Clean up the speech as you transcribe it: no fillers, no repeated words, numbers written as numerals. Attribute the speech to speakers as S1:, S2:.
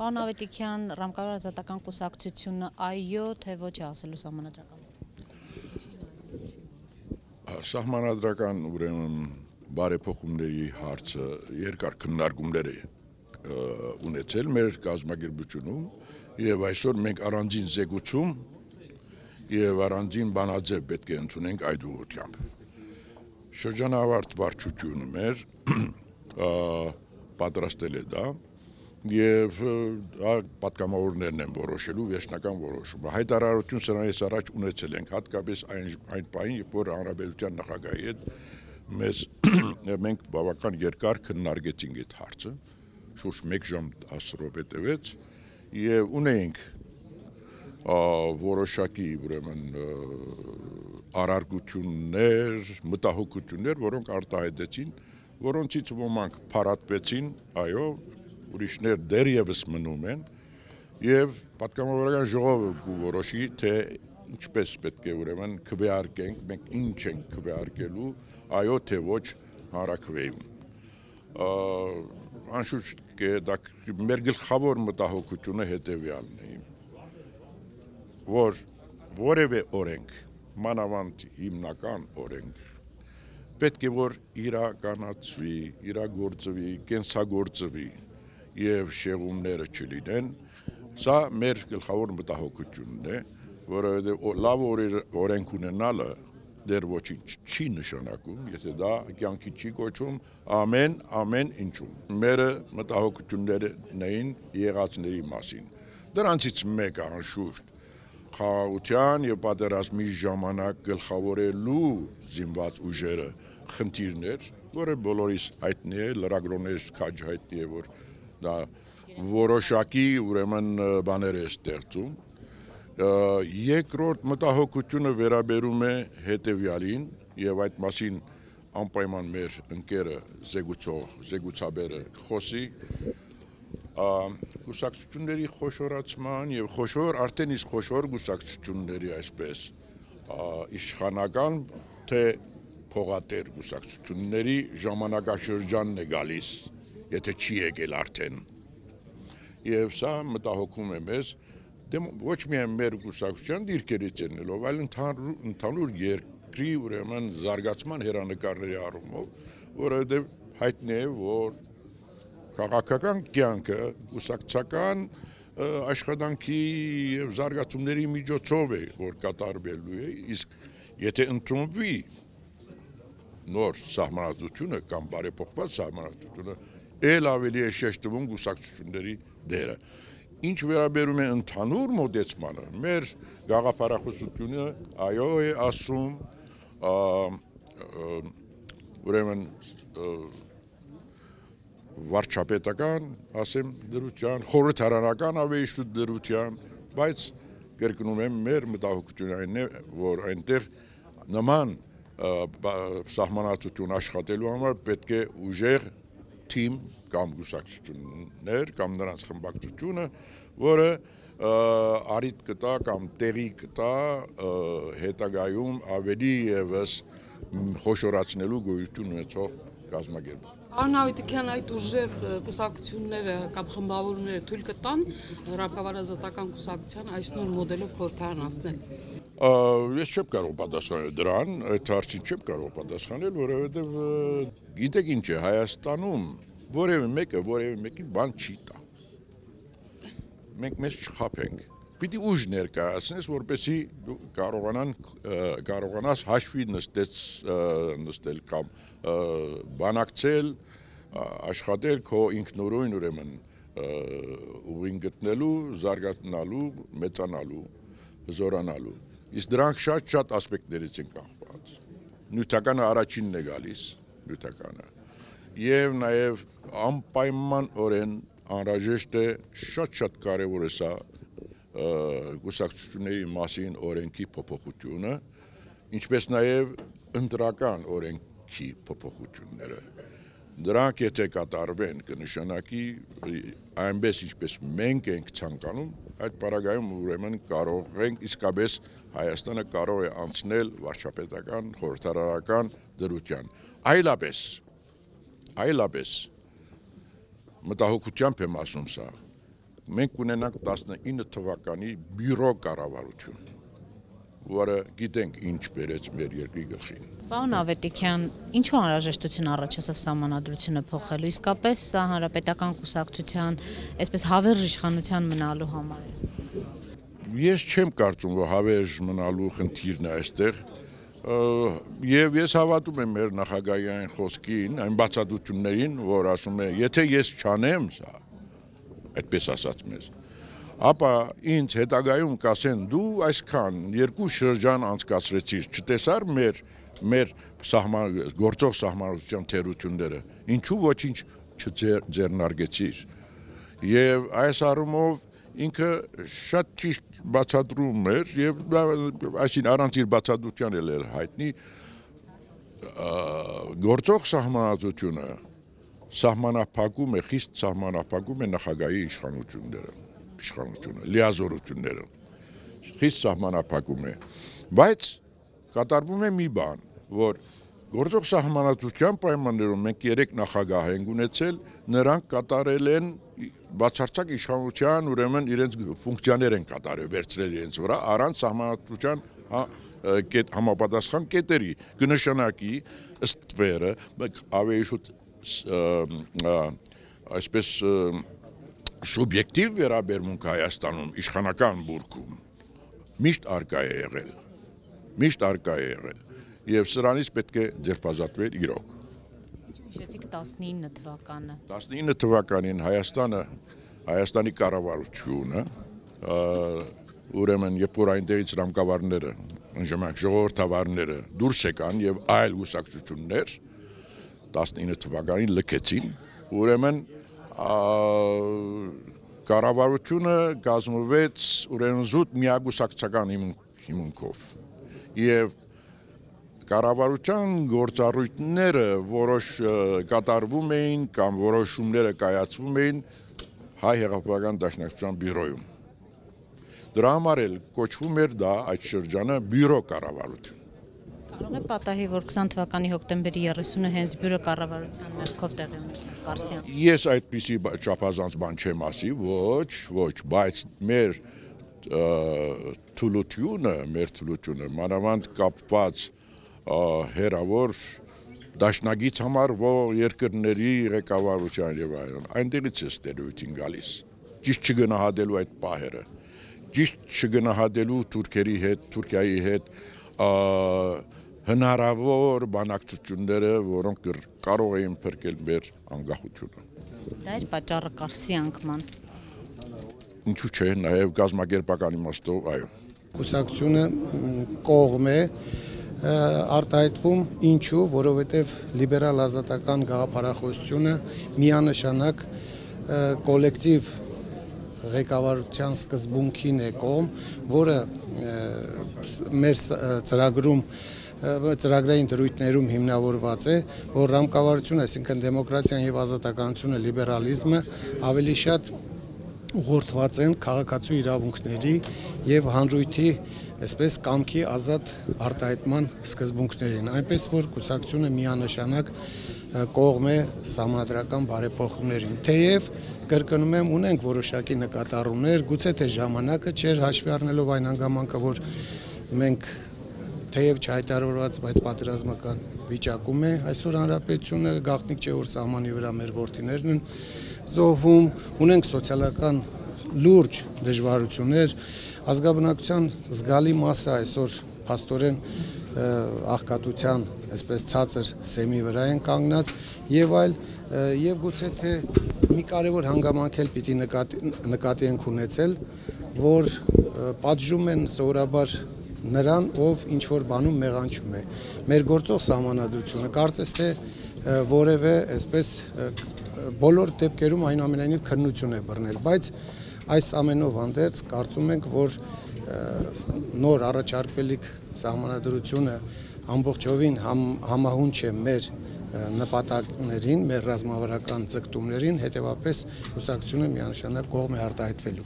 S1: Պարոն Ավետիքյան, Ռամկավար ազատական կուսակցությունը այո, թե ոչ է ասելու սահմանադրական։
S2: Սահմանադրական ուրեմն բարեփոխումների հարցը երկար քննարկումներ է ունեցել մեր կազմակերպությունում եւ այսօր մենք առանձին զեկուցում եւ առանձին բանաձև պետք է ընդունենք այդ ուղղությամբ։ Շրջանավարտ վարչությունը մեր պատրաստել է դա եւ պատգամավորներն են որոշելու վերջնական որոշումը։ Հայտարարություն սրանից առաջ ունեցել ենք հատկապես այն պահին, երբ որ հանրապետության նախագահի հետ մենք բավական երկար քննարկեցինք այդ հարցը, շուրջ 1 ժամ 10 րոպե տևեց եւ ունեինք որոշակի ուրեմն արարգություններ, մտահոգություններ, որոնք արտահայտեցին, որոնցից ոմանք փարատվեցին, այո, ուրիշներ դեռևս մնում են եւ պատգամավորական ժողովը կորոշի, թե ինչպես պետք է ուրեմն քվեարկենք, մենք ինչ ենք քվեարկելու, այո թե ոչ հանրաքվեում։ Անշուշտ դա մեր գլխավոր մտահոգությունը հետեւյալն է, որ որևէ օրենք, մանավանդ հիմնական օրենք, պետք է որ իրականացվի, իրագործվի, կենսագործվի եւ շեղումները չլինեն, սա մեր գլխավոր մտահոգությունն է, որովհետեւ լավ օրենք ունենալը դեռ ոչինչ չի նշանակում, եթե դա կյանքի չի կոչվում ամեն ինչում։ Մերը մտահոգություններն էին եղածների մասին։ Դրանցից մեկը անշուշտ խաղաղության եւ պատերազմի ժամանակ գլխավորելու զինված ուժերը խնդիրներ, որը բոլորիս հայտնի է, լրագրողներից քաջ հայտնի է, որ դա որոշակի ուրեմն բաներ է ստեղծում։ Երկրորդ մտահոգությունը վերաբերում է հետեւյալին եւ այդ մասին անպայման մեր ընկերը զեկուցաբերը խոսի կուսակցությունների խոշորացման եւ խոշոր արդեն իսկ խոշոր կուսակցությունների այսպես իշխանական թե փողատեր կուսակցությունների ժամանակաշրջանն է գալիս, եթե չի եկել արդեն։ Եվ սա մտահոգում է մեզ ոչ միայն մեր կուսակցության դիրքերից ելնելով, այլ ընդհանուր երկրի ուրեմն զարգացման հերանեկարների առումով, որովհետև հայտնի է, որ քաղաքական կյանքը կուսակցական աշխատանքի եւ զարգացումների միջոցով է, որ կատարվելու է, իսկ եթե ընդունվի նոր սահմանադրությունը կամ բարեփոխված սահմանադրությունը, ել ավելի է շեշտվում կուսակցությունների դերը։ Ինչ վերաբերում է ընդհանուր մոտեցմանը, մեր գաղափարախոսությունը այո է ասում, ուրեմն վարչապետական, ասեմ դրության, խորհրդարանական ավելի շուտ դրության, բայց կրկնում եմ մեր մտահոգությունը այն է, որ այնտեղ նման սահմանադրություն աշխատելու համար պետք է ուժեղ թիմ կամ կուսակցություններ կամ նրանց խմբակցությունը, որը արիտ կտա կամ տեղի կտա հետագայում ավելի եւս խոշորացնելու գոյություն ունեցող կազմակերպություն։
S3: Պարոն Ավետիքյան, այդ ուժեղ կուսակցությունները կամ խմբավորումները թույլ կտան Ռամկավար ազատական կուսակցության այս նոր մոդելով խորհրդարան անցնել։
S2: Ես չեմ կարող պատասխանել դրան, այդ հարցին չեմ կարող պատասխանել, որովհետև գիտեք ինչ է, Հայաստանում որևէ մեկի բան չի տա։ Մենք մեզ չխաբենք։ Պիտի ուժ ներկայացնես, որպեսզի կարողանաս հաշվի նստել կամ բանակցել, աշխատել քո ինքնուրույն ուրեմն ուղին գտնելու, զարգանալու, մեծանալու, զորանալու։ Իսկ դրանք շատ ասպեկտներից են կախված։ Նյութականը առաջինն է գալիս, նյութականը։ Եվ նաև անպայմանորեն անհրաժեշտ է շատ կարևոր է սա կուսակցությունների մասին օրենքի փոփոխությունը, ինչպես նաև ընտրական օրենքի փոփոխությունները։ Դրանք եթե կատարվեն կնշանակի այնպես ինչպես մենք ենք ցանկանում, այդ պարագայում ուրեմն կարող ենք իսկապես Հայաստանը կարող է անցնել վարչապետական, խորհրդարանական դրության։ Այլապես մտահոգությամբ եմ ասում սա, մենք ունենանք 19 թվականի բյուրո կառավարություն, որը գիտենք ինչ բերեց մեր երկրի գլխին։
S1: Պարոն Ավետիքյան, ինչու անհրաժեշտություն առաջացավ սահմանադրությունը փոխելու, իսկապես սա հանրապետական կուսակցության այսպես հավերժ իշխանության մնալու համար է։
S2: Ես չեմ կարծում, որ հավերժ մնալու խնդիրն է այստեղ, եւ ես հավատում եմ մեր նախագահի այն խոսքին, այն բացատրություններին, որ ասում է, եթե ես չանեմ սա, այդպես ասած մեզ, ապա ինձ հետագայում կասեն դու այսքան երկու շրջան անցկացրեցիր, չտեսար մեր գործող սահմանադրության թերությունները, ինչու ոչինչ չձեռնարկեցիր։ Եվ այս առումով ինքը շատ ճիշտ բացատրում էր եւ այսին առանց իր բացատրության էլ էր հայտնի գործող սահմանադրությունը սահմանափակում է, խիստ սահմանափակում է նախագահի իշխանությունը, լիազորությունները, խիստ սահմանափակում է, բայց կատարվում է մի բան, որ գործող սահմանադրության պայմաններում մենք 3 նախագահ ենք ունեցել, նրանք կատարել են բացարձակ իշխանության, ուրեմն իրենց ֆունկցիաներ են կատարել, վերցրել իրենց վրա, առանց սահմանադրության համապատասխան կետերի, կնշանակի ըստ վերը, ավելի շուտ այսպես սուբյեկտիվ վերաբերմունք Հայաստանում իշխանական բուրգում միշտ արկա է եղել, եւ սրանից պետք է ձերբազատվել իրոք։
S1: Հիշեցիք 19 թվականը։
S2: 19 թվականին Հայաստանի կառավարությունը, ուրեմն երբ որ այնտեղից ռամկավարները, ժամանակ ժողովրդավարները դուրս եկան եւ այլ կուսակցություններ 19 թվականին լքեցին, ուրեմն կառավարությունը կազմվեց ուրեմն զուտ միակուսակցական հիմունքով եւ կառավարության գործառույթները որոշ կատարվում էին կամ որոշումները կայացվում էին Հայ հեղափոխական դաշնակցության բյուրոյում։ Դրա համար էլ կոչվում էր դա այդ շրջանը բյուրո կառավարություն։
S1: Կարող է պատահի, որ 20 թվականի հոկտեմբերի 30-ը հենց բյուրո կառավարության ներքով տեղի ունեցավ Ղարսյան։
S2: Ես այդպիսի չափազանց բան չեմ ասի, ոչ, բայց մեր թուլությունը, մանավանդ կապված հերավոր դաշնագից համար երկրների ղեկավարության եւ այլն, այնտեղից է ստերոյթին գալիս, ճիշտ չգնահատելու այդ պահերը, ճիշտ չգնահատելու Թուրքիայի հետ հնարավոր բանակցությունները, որոնք կարող էին փրկել մեր անկախությունը։
S1: Դա էր պատճառը Ղարսի անկման։
S2: Ինչու՞ չէ, նաև կազմակերպական իմաստով, այո։
S4: Կուսակցությունը կողմ է արտահայտվում, ինչու, որովհետև լիբերալ ազատական գաղափարախոսությունը միանշանակ կոլեկտիվ ղեկավարության սկզբունքին է կողմ, որը մեր ծրագրային դրույթներում հիմնավորված է, որ ռամկավարությունը, այսինքն դեմոկրատիան եւ ազատականությունը, լիբերալիզմը ավելի շատ ուղղորդված են քաղաքացու իրավունքների եւ հանրույթի այսպես կամքի ազատ արտահայտման սկզբունքներին, այնպես որ կուսակցությունը միանշանակ կողմ է սահմանադրական բարեփոխումներին, թեև կրկնում եմ, ունենք որոշակի նկատառումներ, գուցե թե ժամանակը չէր հաշվի առնելով այն հանգամանքը, որ մենք թեև չհայտարարված, բայց պատերազմական վիճակում է այսօր հանրապետությունը, գաղտնիք չէ, որ սահմանի վրա մեր որդիներն են զոհվում, ունենք սոցիալական լուրջ դժվարություններ, ազգաբնակության զգալի մասը այսօր փաստորեն աղքատության այսպես ցածր սեմի վրա են կանգնած եւ այլ եւ գուցե թե մի կարևոր հանգամանք էլ պիտի նկատի ենք ունեցել, որ պատժում են սովորաբար նրան, ով ինչ որ բանում մեղանչում է։ Մեր գործող սահմանադրությունը կարծես թե որևէ այսպես բոլոր դեպքերում այնուամենայնիվ քննություն է բռնել, բայց այս ամենով հանդերձ կարծում ենք, որ նոր առաջարկվելիք սահմանադրությունը ամբողջովին համահունչ է մեր նպատակներին, մեր ռազմավարական ձգտումներին, հետևապես կուսակցությունը միանշանակ կողմ է արտահայտվելու։